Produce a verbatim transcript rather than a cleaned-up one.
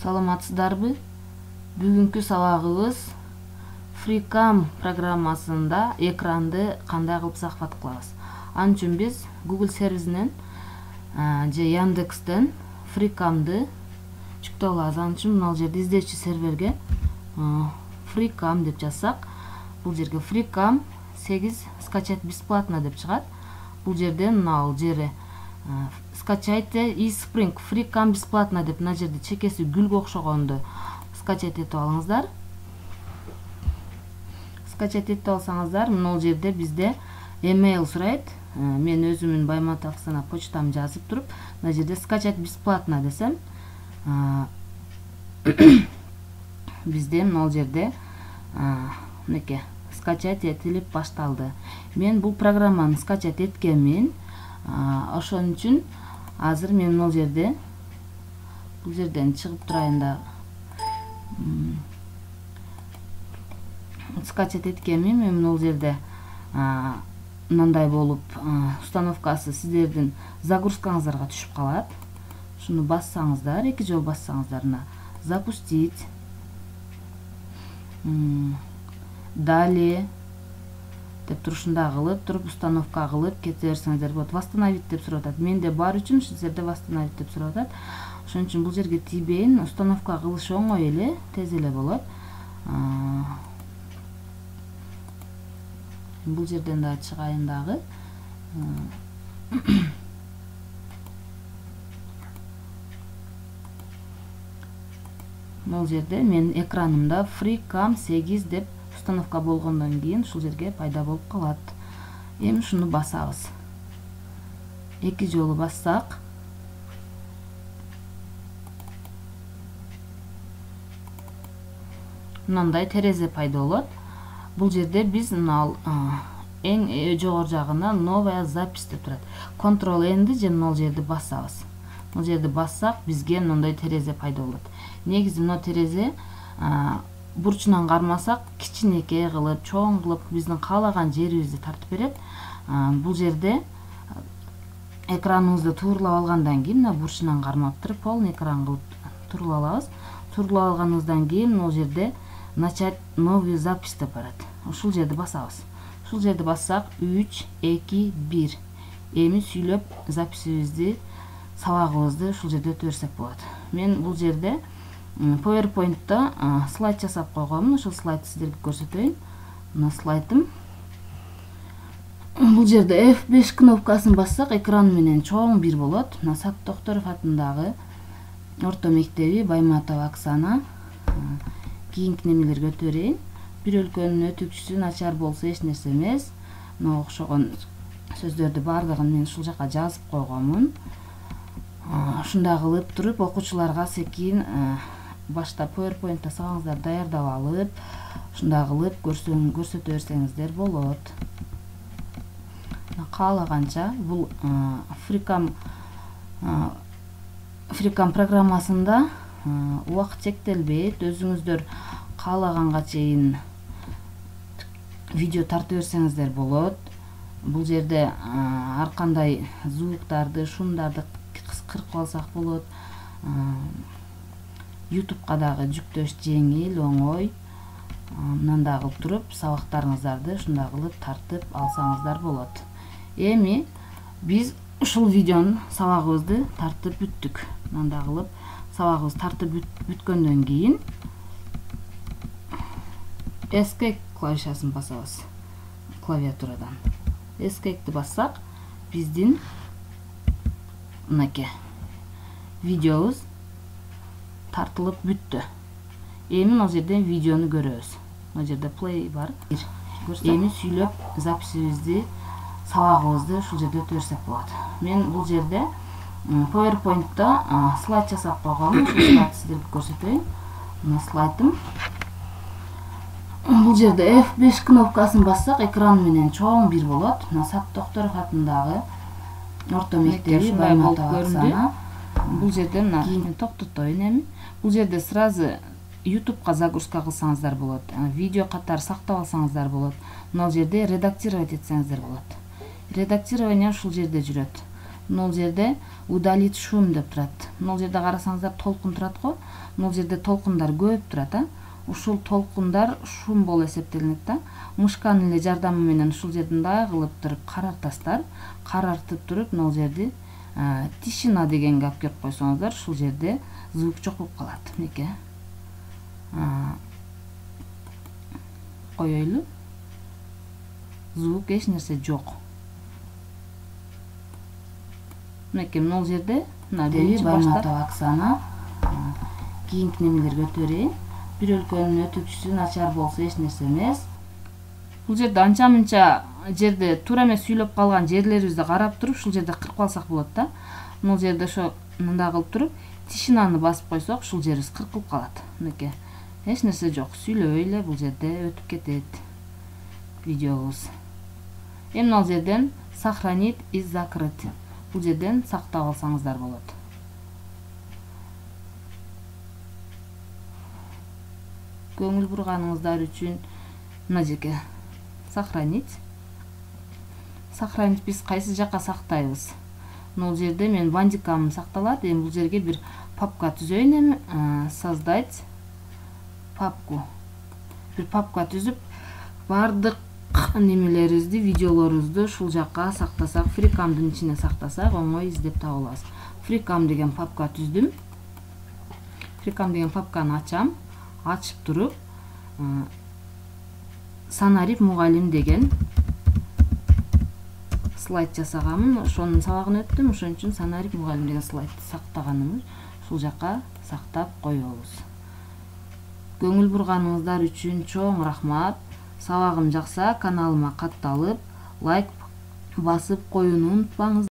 Саламатсыздарбы? Бүгүнкү сабагыбыз FreeCam программасында экранды кандай кылып сакпат кылабыз. Ал үчүн биз Google сервисинен же Яндекстен FreeCam'ды жүктөп алабыз. Ал үчүн мына жерде издөөчү серверге FreeCam деп жазсак, бул жерге FreeCam сегиз скачать бесплатно деп чыгат. Бул жерден мына жери скачайте и Spring FreeCam бесплатно деп мына жерде чекеси гүлгө окшогонду скачать этип алыңыздар. Скачать этип алсаңыздар, мына жерде бизде email сурайт. Мен өзүмүн Байматов Оксана почтамды жазып туруп, мына жерде скачать бесплатно десем, бизде мына жерде мынакей скачать этилип башталды. Мен бул программаны скачать эткенмин. Ошон үчүн азыр мен бул жерде бул жерден чыгып турайын да. Скачать эткенмин. Мен бул жерде мындай болуп установкасы сиздердин загрузкаңыздарга түшүп калат. Шуну бассаңыздар, эки жолу бассаңыздар, мына запустить, далее деп турушунда кылып туруп установка кылып кете берсеңиздер болот. Восстановить деп сурап атат. Менде бар үчүн сиздерде восстановить деп сурап атат. Ошон үчүн бул жерге тийбейин. Установка кылыш оңой эле, тез эле болот. Бул жерден да чыгайын дагы. Бул жерде мен экранымда FreeCam сегиз деп установка болгондон кийин ушул жерге пайда болуп калат. Эми шуну басабыз. Эки жолу бассак, мындай терезе пайда болот. Бул жерде биз мына эң жогору жагына новая запись деп турат. Control N же мына жерди басабыз. Бул жерди бассак, бизге мындай терезе пайда болот. Негизи мына терезе бурчунан кармасак, кичинекей кылып, чоң кылып, биздин каалаган жерибизди тартып берет. Бул жерде экраныбызды туурлап алгандан кийин мына бурчунан кармап туруп, полный экран кылып туурлап алабыз. Туурлап алганыбыздан кийин бул жерде начать новую запись деп барат. Ушул жерди басабыз. Ушул жерди бассак, үч, эки, бир. Эми сүйлөп записибизди, сабагыбызды ушул жерде өтө берсек болот. Мен бул жерде PowerPoint'та слайд жасап койгонмун. Ошол слайдты сиздерге көрсөтөйүн. Мына слайдым. Бул жерде эф беш кнопкасын бассак, экран менен чоң бир болот. Мына Сат Токторов атындагы орто мектеби Байматова Оксана. Кийинки немелерге өтө берейин. Бир өлкөнүн өтүкчүсү начар болсо эч нерсе эмес. Мына окшогон сөздөрдү бардыгын мен ушул жака жазып койгонмун. Ушундай кылып туруп окуучуларга секин башта PowerPoint'та сабагыңыздар даярдап алып, ушундай кылып көрсөтө берсеңиздер болот. Каалаганча бул FreeCam FreeCam программасында убакыт чектелбейт. Өзүңүздөр каалаганга чейин видео тартып берсеңиздер болот. Бул жерде ар кандай звуктарды, шумдарды кыркып алсак болот. YouTube'ка дагы жүктөш жеңил, оңой. Мындай кылып туруп сабактарыңыздарды ушундай кылып тартып алсаңыздар болот. Эми биз ушул видеонун сабагыбызды тартып бүттүк. Мындай кылып сабагыбызды тартып бүткөндөн кийин Escape клавишасын басабыз клавиатурадан. Escape'ти бассак, биздин мынакей видеобуз тартылып бүттү. Эми мына жерден видеону көрөбүз. Мына жерде play бар. Эми сүйлөп записибизди, сабагыбызды ушул жерде өтө берсек болот. Мен бул жерде PowerPoint'та слайд жасап койгонмун. Ушул слайдты сиздерге көрсөтөйүн. Мына слайдым. Бул жерде эф беш кнопкасын бассак, экран менен чоң бир болот. Мына Сат Токторов атындагы орто мектеби Байматова Оксана. Бул жерде мына токтотоюн эми. Бул жерде сразу YouTube'ка загрузка кылсаңыздар болот. Видео катары сактап алсаңыздар болот. Мына жерде редактировать этсеңиздер болот. Редактирование ушул жерде жүрөт. Могул жерде удалить шум деп турат. Могул жерде карасаңыздар толкун турат го. Могул жерде толкундар көп турат, а. Ушул толкундар шум болуп эсептелинет да. Мышканын эле жардамы менен ушул жерди мындай кылып туруп карартасыздар. Карартып туруп могул жерди тишина дегенге алып келип койсоңуздар, ушул жерде звук жок болуп калат. Мынеки. Коёйлу. Звук эч нерсе жок. Мынеки могул жерде мына биринчи баштап Оксана кийинки немелерге өтө берейин. Бир өлкөнүн өтүүчүсү начар болсо эч нерсе эмес. Бул жерде анча мынча жерде туура эмес сүйлөп калган жерлерибизди карап туруп, ушул жерде кыркып алсак болот да. Могул жерде ошо мындай кылып туруп, тишинаны басып койсок, ушул жерибиз кыркылып калат. Мынеки. Эч нерсе жок. Сүйлөбөй эле бул жерде өтүп кетет видеобуз. Эми могул жерден сохранить и закрыть. Бул жерден сактап алсаңыздар болот. Көңүл бурганыңыздар үчүн мына жерге сохранить. Сохранить биз кайсы жакка сактайбыз? Могул жерде мен бандикам сакталат. Эми бул жерге бир папка түзөйүн эми. Создать папку. Бир папка түзүп, бардык немелерибизди, видеолорубузду ушул жакка сактасак, фрикамдын ичине сактасак, оңой издеп таба алабыз. Фрикам деген папка түздүм. Фрикам деген папканы ачам. Ачып туруп, Санарип мугалим деген слайд жасаганмын. Ошонун сабагын өттүм. Ошон үчүн Санарип мугалим деген слайдты сактаганымыз. Ушул жакка сактап коебуз. Көңүл бурганыңыздар үчүн чоң рахмат. Сабагым жакса каналыма катталып, лайк басып коюуну унутпаңыз.